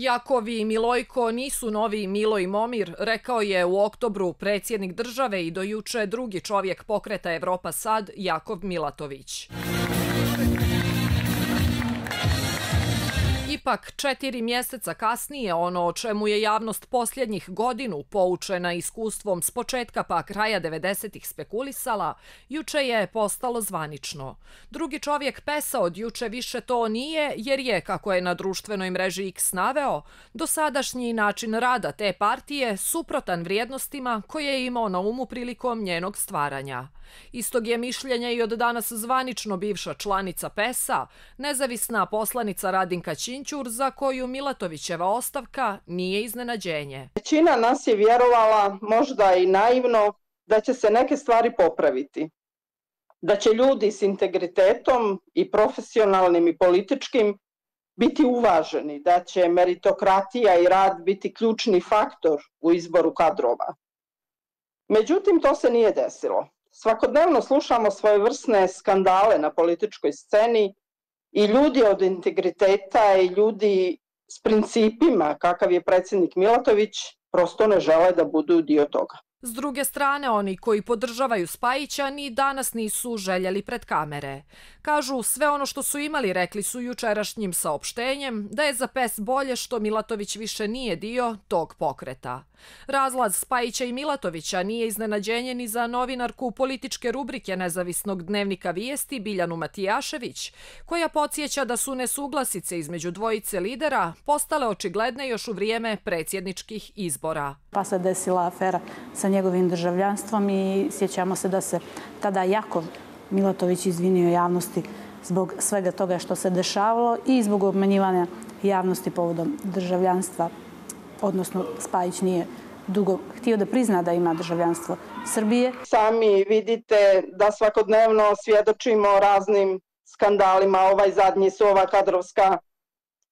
Jakovi i Milojko nisu novi Milo i Momir, rekao je u oktobru predsjednik države i do juče drugi čovjek pokreta Evropa Sad, Jakov Milatović. Ipak, 4 mjeseca kasnije, ono o čemu je javnost posljednjih godinu, poučena iskustvom s početka pa kraja 90-ih spekulisala, juče je postalo zvanično. Drugi čovjek PES-a od juče više to nije, jer je, kako je na društvenoj mreži X naveo, dosadašnji način rada te partije suprotan vrijednostima koje je imao na umu prilikom njenog stvaranja. Istog je mišljenja i od danas zvanično bivša članica PES-a, nezavisna poslanica Radinka Ćinćur, za koju Milatovićeva ostavka nije iznenađenje. Većina nas je vjerovala, možda i naivno, da će se neke stvari popraviti. Da će ljudi s integritetom i profesionalnim i političkim biti uvaženi, da će meritokratija i rad biti ključni faktor u izboru kadrova. Međutim, to se nije desilo. Svakodnevno slušamo svojevrsne skandale na političkoj sceni i ljudi od integriteta i ljudi s principima, kakav je predsjednik Milatović, prosto ne žele da budu dio toga. S druge strane, oni koji podržavaju Spajića ni danas nisu željeli pred kamere. Kažu, sve ono što su imali rekli su jučerašnjim saopštenjem, da je za PES bolje što Milatović više nije dio tog pokreta. Razlaz Spajića i Milatovića nije iznenađenje ni za novinarku političke rubrike nezavisnog dnevnika Vijesti Biljanu Matijašević, koja podsjeća da su nesuglasice između dvojice lidera postale očigledne još u vrijeme predsjedničkih izbora. Pa se desila afera sa njegovim državljanstvom i sjećamo se da se tada Jakov Milatović izvinio javnosti zbog svega toga što se dešavalo i zbog obmanjivanja javnosti povodom državljanstva, odnosno Spajić nije dugo htio da prizna da ima državljanstvo Srbije. Sami vidite da svakodnevno svjedočimo raznim skandalima. Ovaj zadnji su ova kadrovska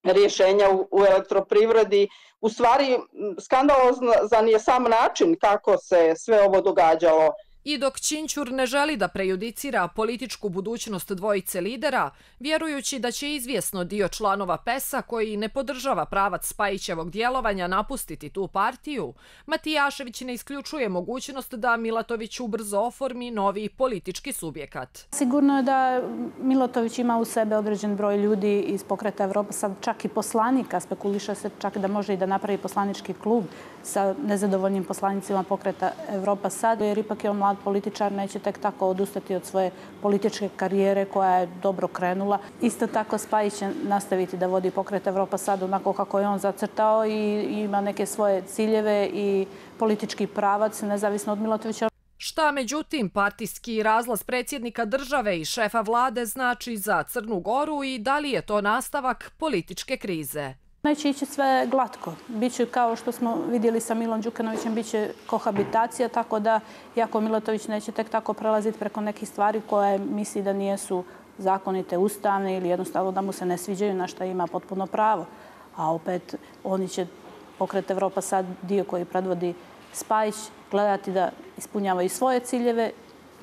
rješenja u elektroprivredi. U stvari, skandalozan je sam način kako se sve ovo događalo. I dok Ćinćur ne želi da prejudicira političku budućnost dvojice lidera, vjerujući da će izvjesno dio članova PES-a koji ne podržava pravac Spajićevog djelovanja napustiti tu partiju, Matijašević ne isključuje mogućnost da Milatović ubrzo oformi novi politički subjekat. Sigurno je da Milatović ima u sebe određen broj ljudi iz pokreta Evropa Sad, čak i poslanika, spekuliše se čak da može i da napravi poslanički klub sa nezadovoljnim poslanicima pokreta Evropa Sad, jer ipak je on mlad političar, neće tek tako odustati od svoje političke karijere koja je dobro krenula. Isto tako Spajić će nastaviti da vodi pokret Evropa Sad onako kako je on zacrtao i ima neke svoje ciljeve i politički pravac, nezavisno od Milatovića. Šta, međutim, partijski razlaz predsjednika države i šefa vlade znači za Crnu Goru i da li je to nastavak političke krize? Neće ići sve glatko. Biće, kao što smo vidjeli sa Milom Đukanovićem, biće kohabitacija, tako da Jakov Milatović neće tek tako prelaziti preko nekih stvari koje misli da nijesu zakonite, ustavne ili jednostavno da mu se ne sviđaju, na što ima potpuno pravo. A opet oni će pokret Evropa Sad, dio koji predvodi Spajić, gledati da ispunjava i svoje ciljeve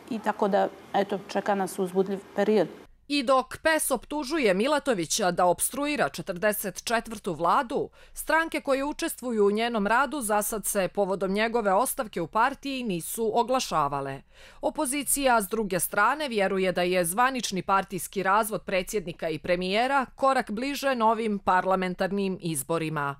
i tako da, eto, čeka nas uzbudljiv period. I dok PES optužuje Milatovića da opstruira 44. vladu, stranke koje učestvuju u njenom radu zasad se povodom njegove ostavke u partiji nisu oglašavale. Opozicija s druge strane vjeruje da je zvanični partijski razvod predsjednika i premijera korak bliže novim parlamentarnim izborima.